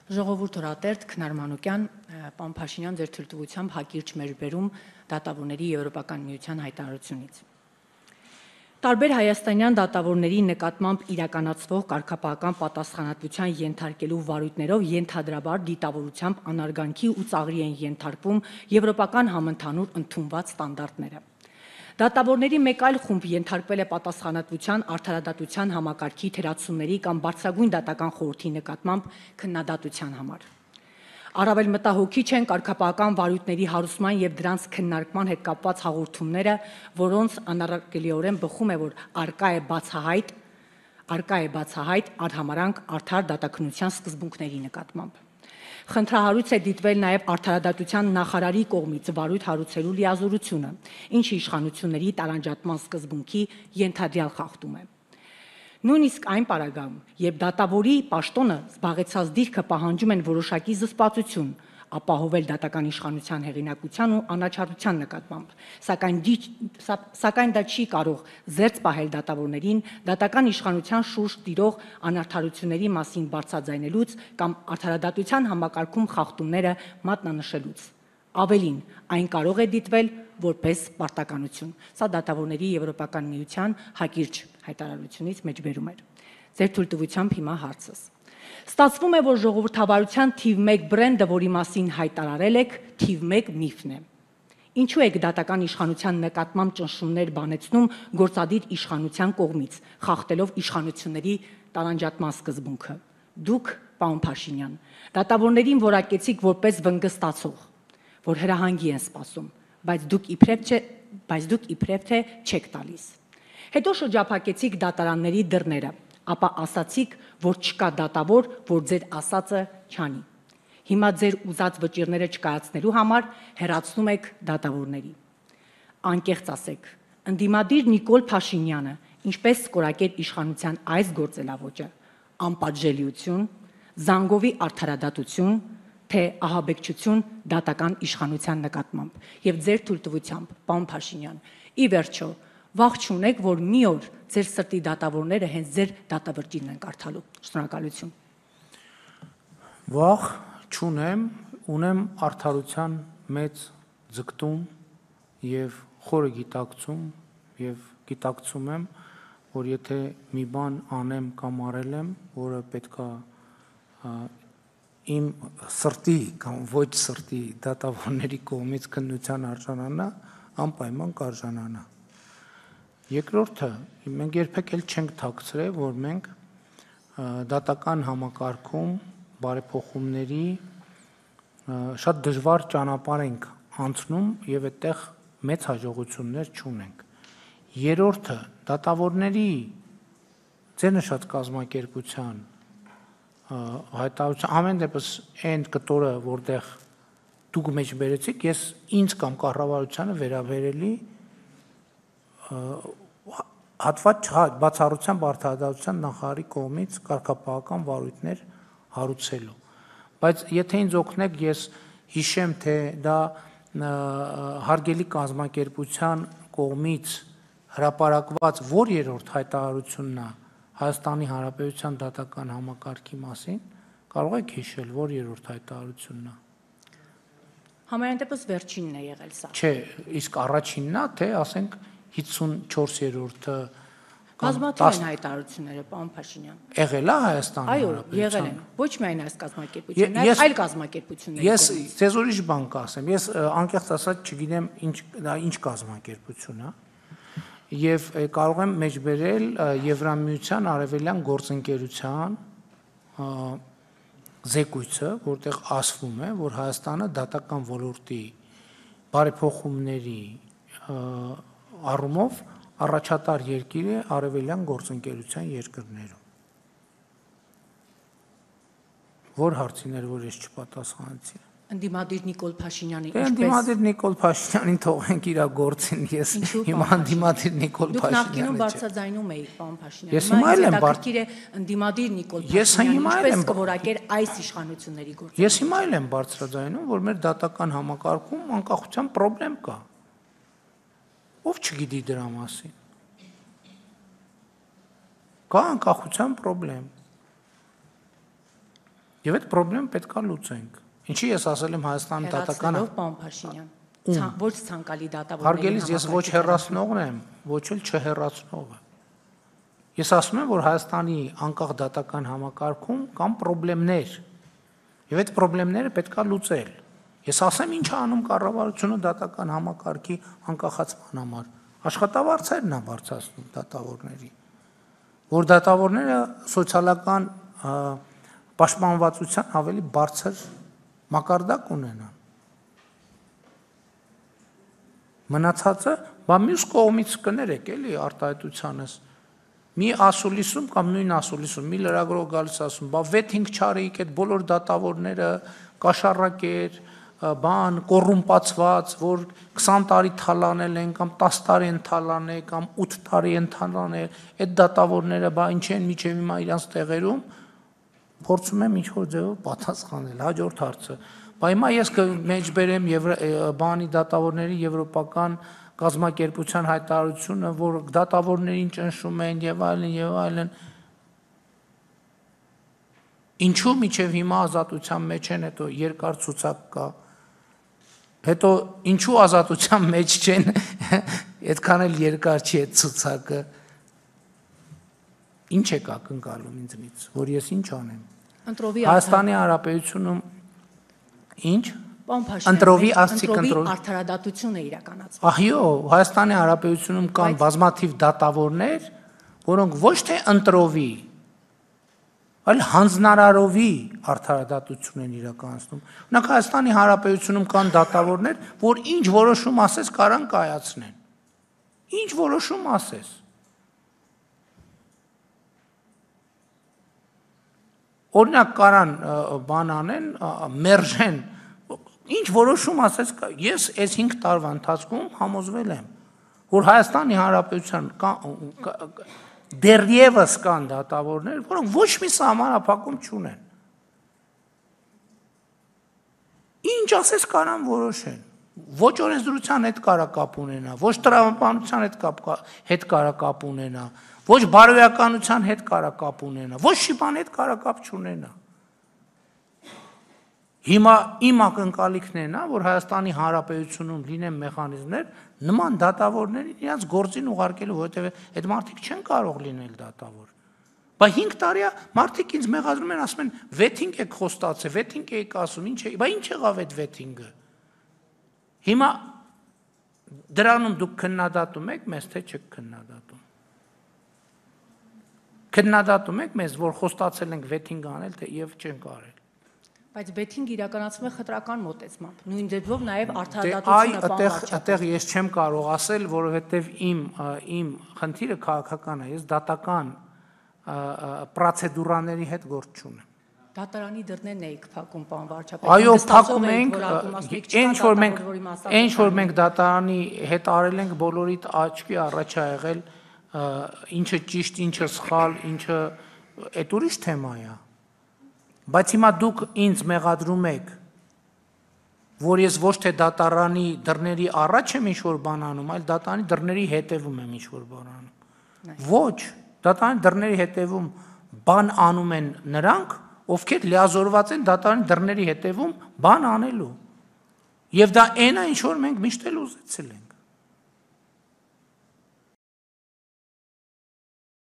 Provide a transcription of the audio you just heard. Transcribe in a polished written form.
Ժողովուրդ օրատերտ Քնար Մանուկյան, պարոն Փաշինյան, ձեր թույլտվությամբ հակիրճ մեջբերում դատավորների Եվրոպական միության հայտարարությունից։ Տարբեր հայաստանյան դատավորների նկատմամբ իրականացվող կարգապահական պատասխանատվության ենթարկելու վարույթներով ենթադրաբար դիտավորությամբ անարգանքի ու ծաղրի են ենթարկվում եվրոպական համընդհանուր ընդունված ստանդարտները։ Դատավորների մեկ այլ խումբ ենթարկվել է պատասխանատվության արդարադատության համակարգի թերացումների կամ բարձրագույն դատական խորհրդի նկատմամբ քննադատության համար։ Առավել մտահոգիչ են կարգապահական վարույթների հարուցման եւ դրանց քննարկման հետ կապված հաղորդումները, որոնց անառարկելիորեն բխում է, որ արկա է բացահայտ արհամարանք արդար դատաքննության սկզբունքների նկատմամբ։ Խնդրահարույց է դիտվել նաև արդարադատության նախարարի կողմից վարույթ հարուցելու լիազորությունը, ինչը իշխանությունների տարանջատման սկզբունքի ենթադրյալ խախտում է։ Նույնիսկ այն պարագայում, երբ դատավորի պաշտոնը զբաղեցած դիրքը պահանջում են որոշակի զսպվածություն, ապահովել դատական իշխանության հեղինակության ու անաչառության նկատմամբ, սակայն դա չի կարող զերծ պահել դատավորներին դատական իշխանության շուրջ տիրող անարդարությունների մասին բարձրաձայնելուց կամ արդարադատության համակարգում խախտումները մատնանշելուց։ Ավելին, այն կարող է դիտվել որպես պարտականություն։ Սա դատավորների Եվրոպական միության հակիրճ հայտարարությունից մեջբերում էր։ Ձեր թույլտվությամբ հիմա հարցս։ Ստացվում է, որ ժողովրդավարության թիվ 1 բրենդը, որի մասին հայտարարել եք, թիվ 1 միֆն է։ Ինչու եք դատական իշխանության նկատմամբ ճնշումներ բանեցնում գործադիր իշխանության կողմից, խախտելով իշխանությունների տարանջատման սկզբունքը։ Դուք, պարոն Փաշինյան, դատավորներին որակեցիք որպես վնգստացող, որ հրահանգի են սպասում, բայց դուք իբրև թե չեք տալիս։ Հետո շրջափակեցիք դատարանների դռները, ապա ասացիք, որ չկա դատավոր, որ ձեր ասածը չանի։ Հիմա ձեր ուզած վճիռները չկայացնելու համար հեռացնում եք դատավորների։ Անկեղծ ասեք, ընդդիմադիր Նիկոլ Փաշինյանը ինչպես կորակեր իշխանության այս գործելավոճը, անպատժելիություն, զանգովի արդարադատություն, թե ահաբեկչություն դատական իշխանության նկատմամբ։ Եվ ձեր թույլտվությամբ, պարոն Փաշինյան, ի վերջո, վախ չունեք, որ մի օր ձեր սրտի դատավորները հենց ձեր դատավճիրն են կարդալու։ Շնորհակալություն։ Վախ չունեմ, ունեմ արդարության մեծ ձգտում եւ խորը գիտակցում եւ գիտակցում եմ, որ եթե մի բան անեմ կամ արել եմ, որը պետքա իմ սրտի կամ ոչ սրտի դատավորների կողմից քննության արժանանա, անպայման կարժանանա։ Երկրորդը, մենք երբեք էլ չենք թաքցրել, որ մենք դատական համակարգում բարեփոխումների շատ դժվար ճանապարհ ենք անցնում եւ այդտեղ մեծ հաջողություններ չունենք։ Երրորդը, դատավորների ձեր նշած կազմակերպության հայտարարության ամեն դեպս այն կտորը, որտեղ դուք մեջբերեցիք, ես ինձ կամ կառավարությանը վերաբերելի հատված բացառությամբ արդարադատության նախարարի կողմից կարգապահական վարույթներ հարուցելու։ Բայց եթե ինձ օգնեք, ես հիշեմ, թե դա հարգելի կազմակերպության կողմից հրապարակված որ երրորդ հայտարարությունն է Հայաստանի Հանրապետության դատական համակարգի մասին, կարող եք հիշել, որ երրորդ հայտարարությունն է։ Համենայն դեպս վերջինն է եղել սա։ Չէ, իսկ առաջինն է, թե ասենք 54-րդը Բազմաթիվ են հայտարարությունները, պարոն Փաշինյան։ Եղել է Հայաստանի Այո, եղել են։ Ոչ միայն այս կազմակերպությունն, այլ այլ կազմակերպությունների։ Ես ձեզ ուրիշ բան կասեմ։ Ես անկեղծ ասած չգիտեմ դա ինչ կազմակերպություն է։ Եվ կարող եմ մեջբերել Եվրամիության արևելյան գործընկերության զեկույցը, որտեղ ասվում է, որ Հայաստանը դատական ոլորտի բարեփոխումների առումով առաջատար երկիր է արևելյան գործընկերության երկրներում։ Որ հարցիներ, որ ես չպատասխանեցի։ Ընդդիմադիր Նիկոլ Փաշինյանի Ընդդիմադիր Նիկոլ Փաշինյանին թողենք իր գործին, ես հիմա ընդդիմադիր Նիկոլ Դուք Փաշինյանը նախկինում բարձրաձայնում էիք, պարոն Փաշինյան։ Ես հիմա էլ եմ Հետաքրքիր է ընդդիմադիր Նիկոլ Փաշինյանը ինչպես կորակեր այս իշխանությունների գործը։ Ես հիմա էլ եմ բարձրաձայնում, որ մեր դատական համակարգում անկախության խնդրեմ կա։ Ով չգիտի դրա մասին։ Կա անկախության խնդրեմ։ Եվ այդ խնդրեմ պետք է լուծենք։ Ինչի ես ասել եմ Հայաստանի դատականը։ Պարոն Փաշինյան, ոչ ցանկալի դատավորների Հարգելիս, ես ոչ հեռացնողն եմ, ոչ էլ չհեռացնողը։ Ես ասում եմ, որ Հայաստանի անկախ դատական համակարգում կան խնդիրներ, եւ այդ խնդիրները պետք է լուծել։ Ես ասեմ, ինչ է անում կառավարությունը դատական համակարգի անկախացման համար։ Աշխատավարձերն է բարձրացնում դատավորների, որ դատավորները սոցիալական պաշտպանվածության ավելի բարձր մակարդակ ունենան։ Մնացածը, բա մյուս կողմից կներեք էլի արտահայտությանս։ Մի ասուլիսում կամ նույն ասուլիսում մի լրագրող գալիս ասում, բա վեթինգ չարեիք այդ բոլոր դատավորները կաշառակեր, բան կոռումպացված, որ 20 տարի թալանել են կամ 10 տարի են թալանել կամ 8 տարի են թալանել, այդ դատավորները բա ինչ են միջև հիմա իրանց տեղերում, փորձում եմ ինչ-որ ձևով պատասխանել։ Հաջորդ հարցը, բա հիմա ես կմեջբերեմ բանի դատավորների եվրոպական կազմակերպության հայտարարությունը, որ դատավորներին ճնշում են եւ այլն, ինչու միջև հիմա ազատության մեջ են, հետո երկար ցուցակ կա, հետո ինչու ազատության մեջ չեն, այդքան էլ երկար չի այդ ցուցակը, ինչ եք ակնկալում ինձնից, որ ես ինչ անեմ։ Հայաստանի Հանրապետությունում ինչ Ընտրովի արդարադատություն է իրականացվում։ Ահյո, Հայաստանի Հանրապետությունում կան բազմաթիվ դատավորներ, որոնք ոչ թե ընտրովի, այլ հանձնարարովի արդարադատություն են իրականացնում։ Օրինակ Հայաստանի Հանրապետությունում կան դատավորներ, որ ինչ որոշում ասես կարան կայացնեն։ Ինչ որոշում ասես։ Օրինակ կարան բան անեն, մերժեն, ինչ որոշում ասես, ես այս 5 տարվա ընթացքում համոզվել եմ, որ Հայաստանի Հանրապետության դեռևս կան դատավորներ, որոնք ոչ մի սահմանափակում չունեն։ Ինչ ասես կարան որոշեն, ոչ օրենսդրության հետ կարա կապ ունենա, ոչ տրամաբանության հետ կարա կապ ունենա, ոչ բարոյականության հետ կարա կապ ունենա, ոչ մի բան հետ կարա կապ չունենա։ Հիմա իմ ակնկալիքն է նա, որ Հայաստանի Հանրապետությունում լինեն մեխանիզմներ նման դատավորներին իրենց գործին ուղարկելու, որովհետև այդ մարդիկ չեն կարող լինել դատավոր։ Բա 5 տարի մարդիկ ինձ մեղադրում են, ասում են վեթինգ եք խոստացել, վեթինգ եք ասում, ինչ է, բա ինչ եղավ այդ վեթինգը։ Հիմա դրանում դուք քննադատում եք մեզ, թե չեք քննադատում։ Քննադատում եք մեզ, որ խոստացել ենք վեթինգ անել, թե եւ չենք արել։ Բայց վեթինգ իրականացվում է խտրական մոտեցմամբ։ Նույն դեպքում նաև արդարադատությունը բան այդտեղ ես չեմ կարող ասել, որովհետև իմ խնդիրը քաղաքական է, ես դատական պրոցեդուրաների հետ գործ չունեմ։ Դատարանի դռներն էիք փակում, պարոն վարչապետ։ Այո, փակում ենք, ինչ որ մենք դատարանի հետ արել ենք, բոլորիդ աչքի առաջ ա եղել, ինչը ճիշտ, ինչը սխալ, ինչը այդ ուրիշ թեմա է։ Բայց հիմա դուք ինձ մեղադրում եք, որ ես ոչ թե դատարանի դռների առաջ եմ ինչ-որ բան անում, այլ դատարանի դռների հետևում եմ ինչ-որ բան անում։ Ոչ, դատարանի դռների հետևում բան անում են նրանք, ովքեր լիազորված են դատարանի դռների հետևում բան անելու։ Եվ դա այն է, ինչ որ մենք միշտ էլ ուզեցել ենք։